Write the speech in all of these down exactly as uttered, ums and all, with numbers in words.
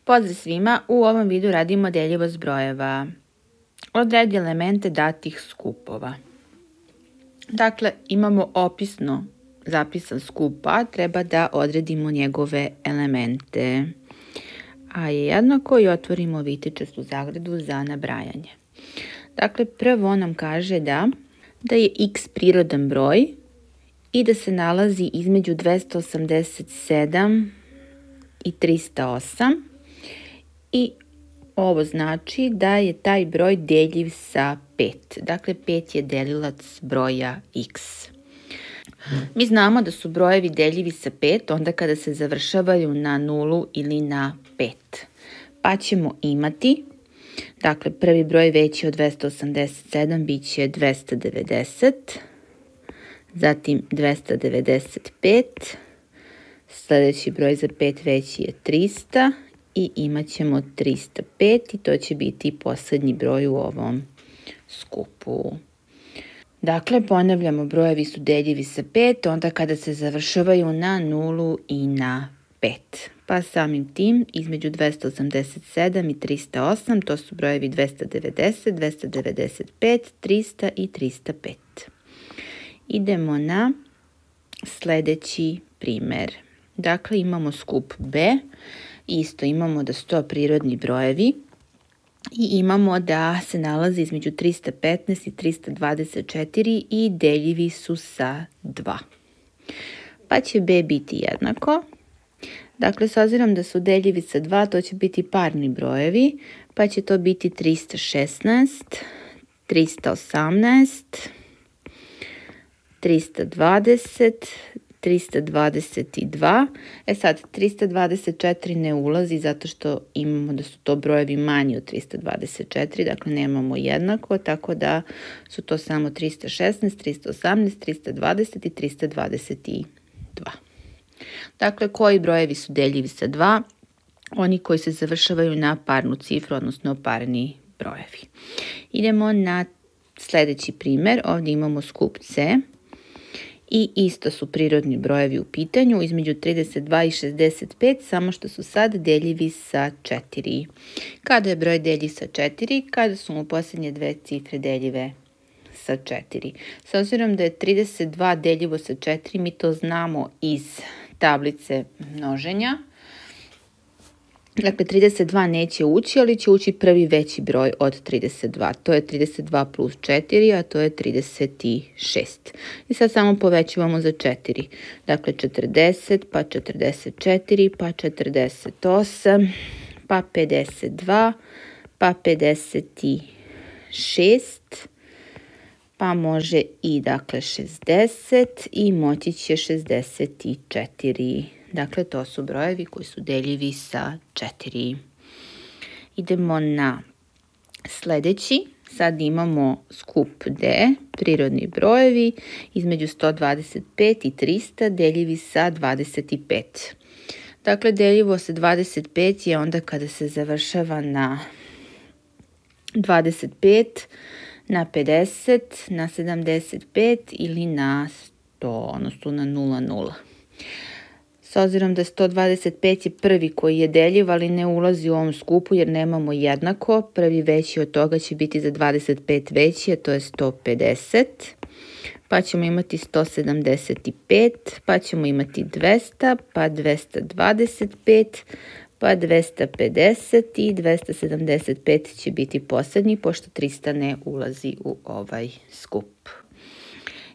Pozdrav svima, u ovom videu radimo deljivost brojeva. Odredi elemente datih skupova. Dakle, imamo opisno zapisan skup A, treba da odredimo njegove elemente. A je jednako i otvorimo vitičastu zagradu za nabrajanje. Dakle, prvo nam kaže da, da je x prirodan broj i da se nalazi između dvesta osamdeset sedam i trista osam. I ovo znači da je taj broj deljiv sa pet. Dakle, pet je delilac broja x. Mi znamo da su brojevi deljivi sa pet onda kada se završavaju na nulu ili na pet. Pa ćemo imati, dakle, prvi broj veći od dvesta osamdeset sedam bit će dvesta devedeset, zatim dvesta devedeset pet, sljedeći broj za pet veći je trista i imat ćemo trista pet i to će biti posljednji broj u ovom skupu. Dakle, ponavljamo, brojevi su deljivi sa pet onda kada se završavaju na nulu i na pet. Pa samim tim između dvesta osamdeset sedam i trista osam to su brojevi dvesta devedeset, dvesta devedeset pet, trista i trista pet. Idemo na sljedeći primjer. Dakle, imamo skup B. Isto imamo da su to prirodni brojevi i imamo da se nalazi između trista petnaest i trista dvadeset četiri i deljivi su sa dva. Pa će B biti jednako. Dakle, s obzirom da su deljivi sa dva, to će biti parni brojevi, pa će to biti trista šesnaest, trista osamnaest, trista dvadeset, trista dvadeset dva. E sad, trista dvadeset četiri ne ulazi zato što imamo da su to brojevi manji od trista dvadeset četiri, dakle nemamo jednako, tako da su to samo trista šesnaest, trista osamnaest, trista dvadeset i trista dvadeset dva. Dakle, koji brojevi su deljivi sa dva? Oni koji se završavaju na parnu cifru, odnosno parni brojevi. Idemo na sljedeći primjer. Ovdje imamo skup C. I isto su prirodni brojevi u pitanju, između trideset dva i šezdeset pet, samo što su sad deljivi sa četiri. Kada je broj deljiv sa četiri? Kada su mu posljednje dve cifre deljive sa četiri. S obzirom da je trideset dva deljivo sa četiri, mi to znamo iz tablice množenja. Dakle, trideset dva neće ući, ali će ući prvi veći broj od trideset dva. To je trideset dva plus četiri, a to je trideset šest. I sad samo povećavamo za četiri. Dakle, četrdeset, pa četrdeset četiri, pa četrdeset osam, pa pedeset dva, pa pedeset šest, pa može i dakle šezdeset i moći će šezdeset četiri. Dakle, to su brojevi koji su deljivi sa četiri. Idemo na sljedeći. Sad imamo skup D, prirodni brojevi, između sto dvadeset pet i trista, deljivi sa dvadeset pet. Dakle, deljivo sa dvadeset pet je onda kada se završava na dvadeset pet, na pedeset, na sedamdeset pet ili na sto, odnosno na nula nula. S obzirom da sto dvadeset pet je prvi koji je deljiv, ali ne ulazi u ovom skupu jer nemamo jednako. Prvi veći od toga će biti za dvadeset pet veći, a to je sto pedeset. Pa ćemo imati sto sedamdeset pet, pa ćemo imati dvesta, pa dvesta dvadeset pet, pa dvesta pedeset i dvesta sedamdeset pet će biti posljednji, pošto trista ne ulazi u ovaj skup.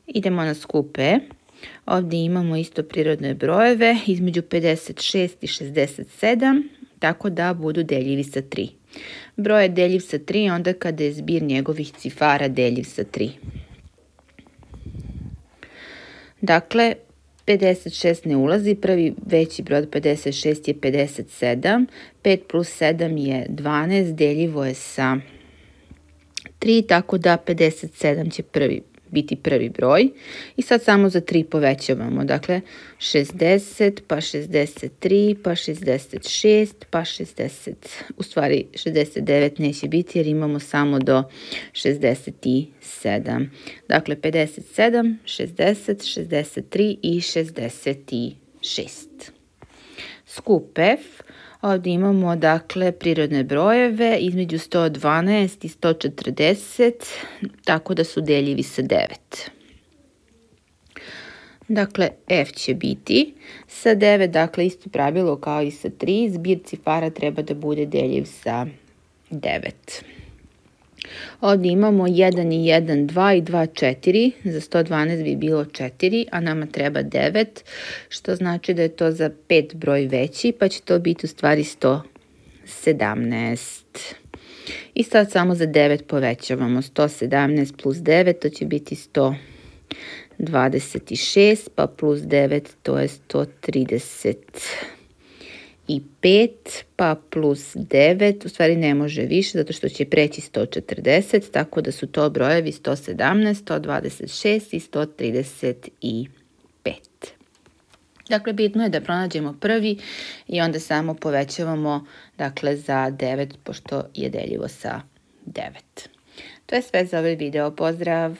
Idemo na skup E. Ovdje imamo isto prirodne brojeve između pedeset šest i šezdeset sedam, tako da budu deljivi sa tri. Broj je deljiv sa tri onda kada je zbir njegovih cifara deljiv sa tri. Dakle, pedeset šest ne ulazi, prvi veći broj od pedeset šest je pedeset sedam, pet plus sedam je dvanaest, deljivo je sa tri, tako da pedeset sedam će prvi biti prvi broj. I sad samo za tri povećavamo. Dakle, šezdeset, pa šezdeset tri, pa šezdeset šest, pa šezdeset. U stvari, šezdeset devet neće biti jer imamo samo do šezdeset sedam. Dakle, pedeset sedam, šezdeset, šezdeset tri i šezdeset šest. Skup F. Ovdje imamo dakle prirodne brojeve između sto dvanaest i sto četrdeset, tako da su deljivi sa devet. Dakle, f će biti sa devet, dakle isto pravilo kao i sa tri, zbir cifara treba da bude deljiv sa devet. Ovdje imamo jedan i jedan, dva i dva, četiri, za sto dvanaest bi bilo četiri, a nama treba devet, što znači da je to za pet broj veći, pa će to biti u stvari sto sedamnaest. I sad samo za devet povećavamo, sto sedamnaest plus devet, to će biti sto dvadeset šest, pa plus devet, to je sto trideset pet, pa plus devet, u stvari ne može više, zato što će preći sto četrdeset, tako da su to brojevi sto sedamnaest, sto dvadeset šest i sto trideset pet. Dakle, bitno je da pronađemo prvi i onda samo povećavamo dakle, za devet, pošto je deljivo sa devet. To je sve za ovaj video. Pozdrav!